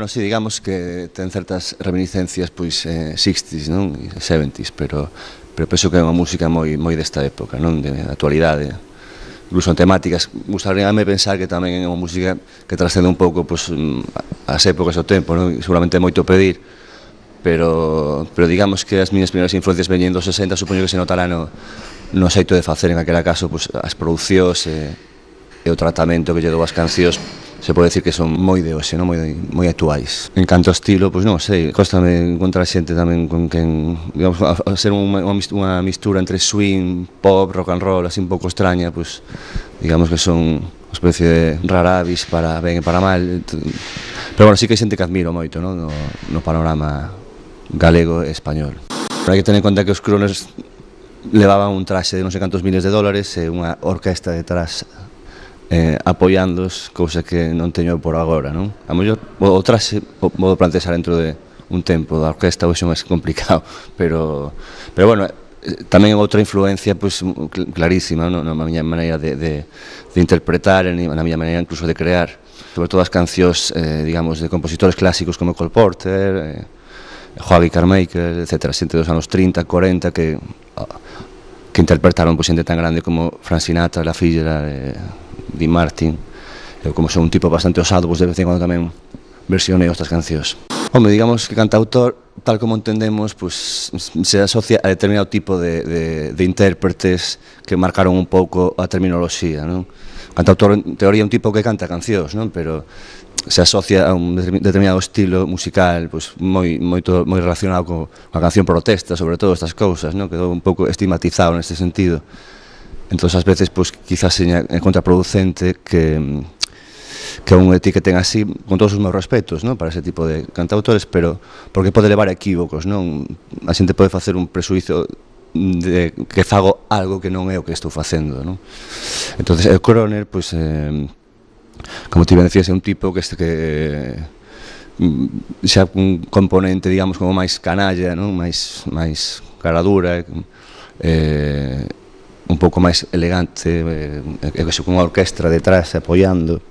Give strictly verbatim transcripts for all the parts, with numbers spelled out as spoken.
Bueno, sí, digamos que ten certas reminiscencias pois eh, sixties, non? E seventies, pero pero penso que é unha música moi moi desta época, non? De actualidade. Incluso en temáticas, gustaríame pensar que tamén é unha música que trascende un pouco pois, as épocas do tempo, non? Seguramente é moito pedir, pero, pero digamos que as miñas primeiras influencias veñen dos sesenta, supoño que se notará no, no xeito de facer en aquela caso pois, as producións e, e o tratamento que lle dou as cancións. Se pode dicir que son moi de hoxe, non? moi, moi actuais. En canto ao estilo, pois non sei, cóstame encontrar xente tamén con quen, digamos, a, a ser unha, unha mistura entre swing, pop, rock and roll, así un pouco extraña, pois digamos que son unha especie de rara avis para ben e para mal. Pero bueno, sí que hai xente que admiro moito, non? No, no panorama galego e español. Pero hai que tener en conta que os Crooners levaban un traxe de non sei cantos miles de dólares e unha orquesta detrás Eh, apoiándos, cousa que non teño por agora, non? A mellor o traxe o modo plantear dentro de un tempo da orquesta hoxe é máis complicado, pero pero bueno, tamén outra influencia pois clarísima, non? Na miña maneira de, de, de interpretar, na miña maneira incluso de crear, sobre todo as cancións, eh, digamos, de compositores clásicos como Cole Porter, eh, Joaquín Carmichael, etcétera, xente dos anos trinta, corenta que que interpretaron pois xente tan grande como Frank Sinatra, La Filla, eh, Dean Martin. Eu, como son un tipo bastante osado, pois de vez en quando tamén versioneo estas cancións. Home, digamos que cantautor, tal como entendemos, pois se asocia a determinado tipo de, de, de intérpretes que marcaron un pouco a terminoloxía, non? Cantautor, en teoría, é un tipo que canta cancións, non? Pero se asocia a un determinado estilo musical, pois moi moito moi relacionado co, coa canción protesta, sobre todo estas cousas, non? Quedou un pouco estigmatizado neste sentido. Entón, ás veces, pois, quizás seña contraproducente que que un etiqueten así, con todos os meus respetos, non? Para ese tipo de cantautores, pero porque pode levar a equívocos, non? A xente pode facer un presuizo de que fago algo que non é o que estou facendo, non? Entón, o Crooner, pois, eh, como te iba a decir, é un tipo que este que xa un componente, digamos, como máis canalla, non? Máis máis cara dura, eh un pouco máis elegante, eh, e con unha orquestra detrás apoiando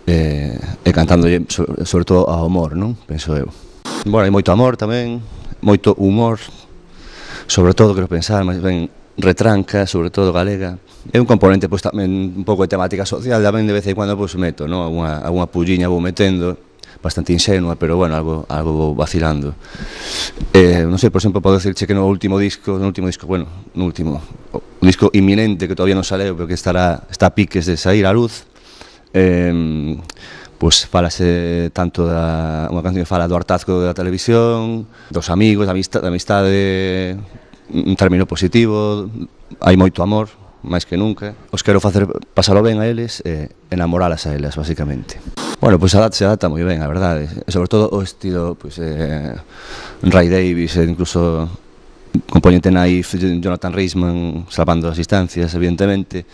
eh, e cantando sobre, sobre todo ao amor, non? Penso eu. Bueno, hai moito amor tamén, moito humor, sobre todo, quero pensar, máis ben retranca, sobre todo galega. É un componente, pois, tamén un pouco de temática social, tamén de vez en cuando, pois, meto, non? Alguna, alguna pulliña vou metendo, bastante ingenua, pero bueno, algo, algo vou vacilando. Eh, non sei, por exemplo, podo dicirche que no último disco, no último disco, bueno, no último, un disco inminente que todavía non saleu, pero que estará, está a piques de sair á luz, eh, pois falase tanto da, unha canción que fala do hartazgo da televisión, dos amigos, da amistade, da amistade, un término positivo, hai moito amor, máis que nunca. Os quero facer pasalo ben a eles e enamoralas a elas, basicamente. Bueno, pois a se adapta moi ben, a verdade, e sobre todo o estilo, pois, eh, Ray Davies, e incluso componente naif, Jonathan Reisman, salvando as distancias, evidentemente,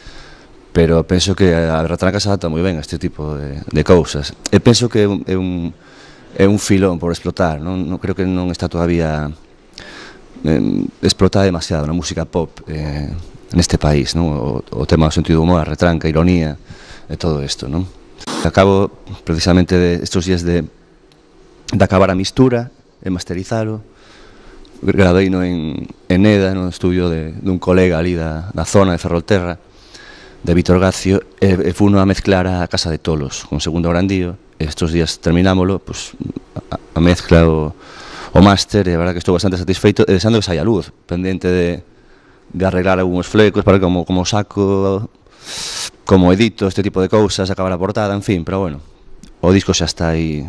pero penso que a retranca se adapta moi ben a este tipo de, de cousas. E penso que é un, é un, é un filón por explotar, non, non creo que non está todavía eh, explotada demasiado na música pop eh, neste país, non? O, o tema do sentido humor, a retranca, a ironía, e todo isto, non? Acabo precisamente de estes días de, de acabar a mistura e masterizalo. Graveino en, en Eda, no estudio de, de un colega ali da, da zona de Ferrolterra, de Vítor Gacio, e, e funo a mezclar a Casa de Tolos con Segundo Grandío. Estes días terminámolo, pues, a, a mezcla o, o máster, e a verdad que estou bastante satisfeito, e desando que saia a luz, pendente de, de arreglar algúns flecos para como, como saco, como edito este tipo de cousas, acabar a portada, en fin, pero bueno, o disco xa está aí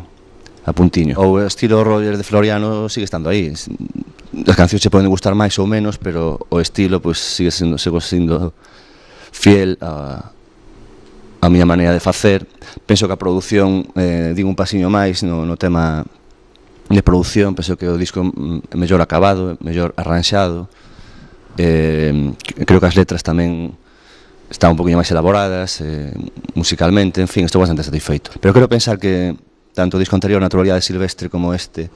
a puntiño. O estilo Roger de Floriano sigue estando aí. As cancións se poden gustar máis ou menos, pero o estilo, pois, sigue sendo, sigo sendo fiel a, a miña maneira de facer. Penso que a produción, eh, digo un pasiño máis no, no tema de produción, penso que o disco é mellor acabado, mellor arranxado. Eh, creo que as letras tamén están un poquinho máis elaboradas, eh, musicalmente, en fin, estou bastante satisfeito. Pero quero pensar que tanto o disco anterior, Naturalidade Silvestre, como este,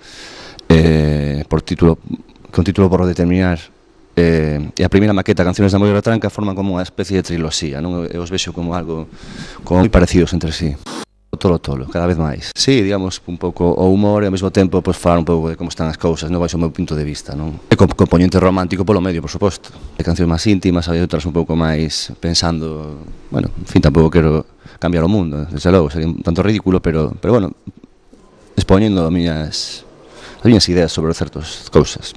eh, por título, con título por determinar, eh, e a primeira maqueta, Canciones de Amor e Retranca, forman como unha especie de triloxía, non? Eu os vexo como algo como moi parecidos entre sí. tolo tolo, cada vez máis. Sí, digamos, un pouco o humor e ao mesmo tempo pois, falar un pouco de como están as cousas, non baixo o meu punto de vista, non? E con componente romántico polo medio, por suposto. Hai cancións máis íntimas, hai outras un pouco máis pensando, bueno, en fin, tampouco quero cambiar o mundo, desde logo, sería un tanto ridículo, pero, pero bueno, expoñendo as miñas, as miñas ideas sobre certas cousas.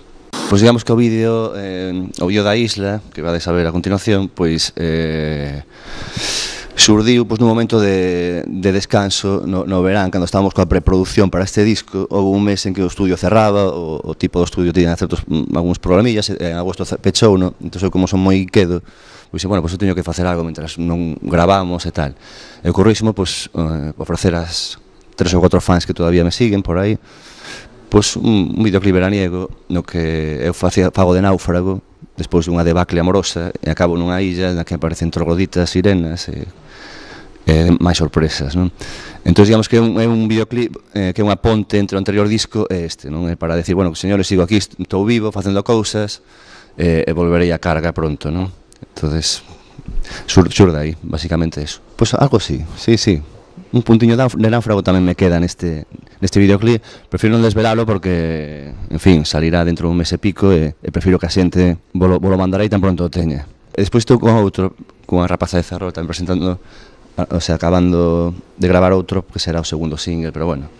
Pois digamos que o vídeo, eh, o vídeo da isla, que vades a ver a continuación, pois eh, surdiu pois, nun momento de, de descanso no, no verán, cando estábamos coa preproducción para este disco. Houve un mes en que o estudio cerraba, o, o tipo do estudio tiña certos, algúns problemillas, e en agosto pechou, no? Entón eu como son moi quedo, pois bueno, pois eu teño que facer algo mentras non gravamos e tal. E ocorrísimo, pois, eh, ofrecer as tres ou quatro fans que todavía me siguen por aí, pois un, un videoclip veraniego no que eu facía, fago de náufrago despois dunha debacle amorosa e acabo nunha illa na que aparecen trogloditas, sirenas e, e máis sorpresas, non? Entón, digamos que é un, é un videoclip eh, que é unha ponte entre o anterior disco e este, non? É para decir, bueno, señores, sigo aquí, estou vivo, facendo cousas eh, e volverei a carga pronto, non? Entonces, sur, sur de aí, basicamente eso. Pois algo así, sí, sí. Un puntiño de náufrago tamén me queda neste, neste videoclip. Prefiro non desvelalo porque, en fin, salirá dentro dun mes e pico e, e prefiro que a xente volo, volo mandarei tan pronto o teña. E despois estou con outro, con a rapaza de Ferrol, tamén presentando, o sea, acabando de gravar outro, que será o segundo single, pero bueno,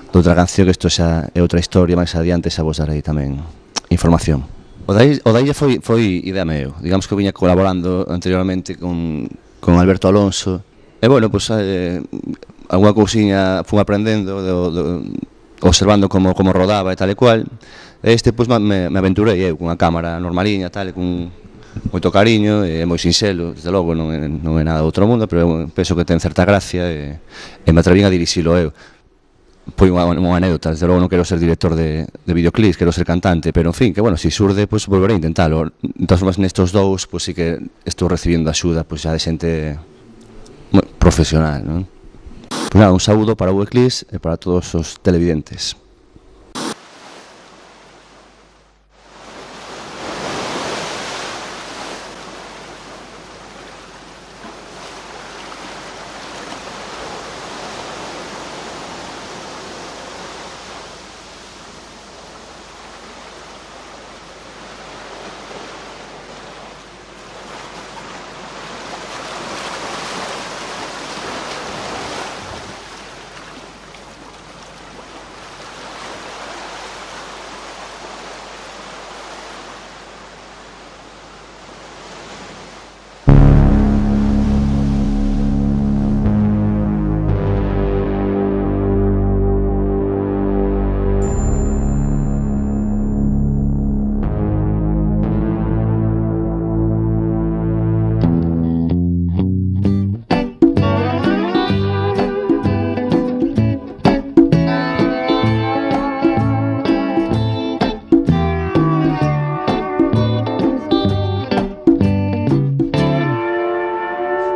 de outra canción, que isto xa é outra historia, máis adiante xa vos darei tamén información. O da, o da illa foi, foi idea meu, digamos que viña colaborando anteriormente con, con Alberto Alonso. E, bueno, pois, eh, alguna cousiña fun aprendendo, do, do, observando como, como rodaba e tal e cual. E este, pois, me, me aventurei eu, cunha cámara normaliña, tal, e cun moito cariño, e moi sinxelo, desde logo, non é, non é nada do outro mundo, pero eu penso que ten certa gracia, e, e me atrevín a dirixilo eu. Foi unha, unha anécdota, desde logo non quero ser director de, de videoclips, quero ser cantante, pero, en fin, que, bueno, se si surde, pois, volverei a intentalo. De todas formas, nestos dous, pois, sí que estou recibindo axuda, pois, xa de xente profesional, non? Pues nada, un saúdo para o Eclipse e para todos os televidentes.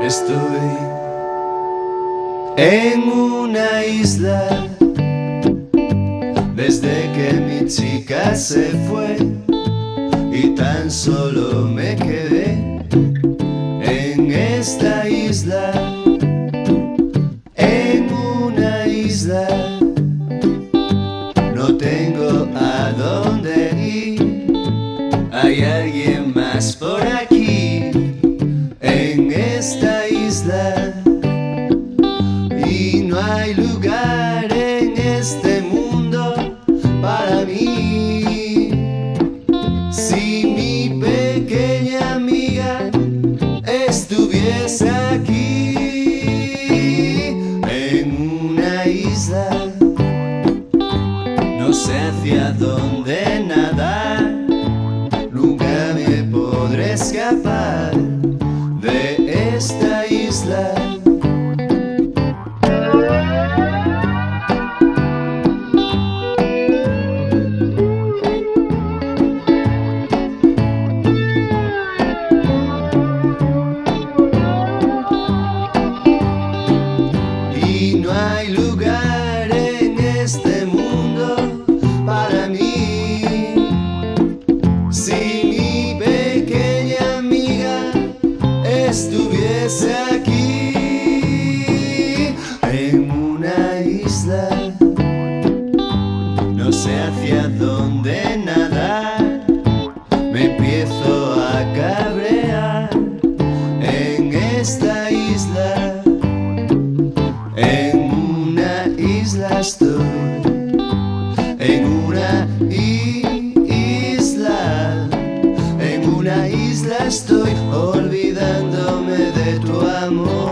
Estoy en una isla desde que mi chica se fue y tan solo me quedé en esta isla, en una isla. No tengo a dónde ir, hay alguien más por aquí en esta isla y no hay lugar en este mundo para mí. Si mi pequeña amiga estuviese aquí en una isla, no sé hacia dónde nadar, nunca me podré escapar de esta isla. Y no hay lugar en este mundo para mí. Si mi pequeña amiga estuviese aquí en esta isla, en una isla estoy, en una isla, en una isla estoy, olvidándome de tu amor.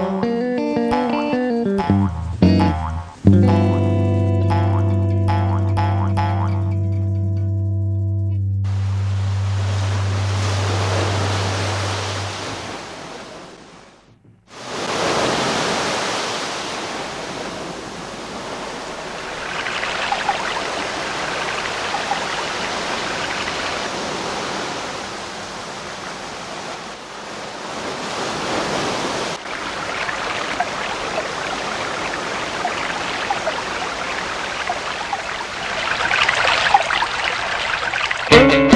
Thank you.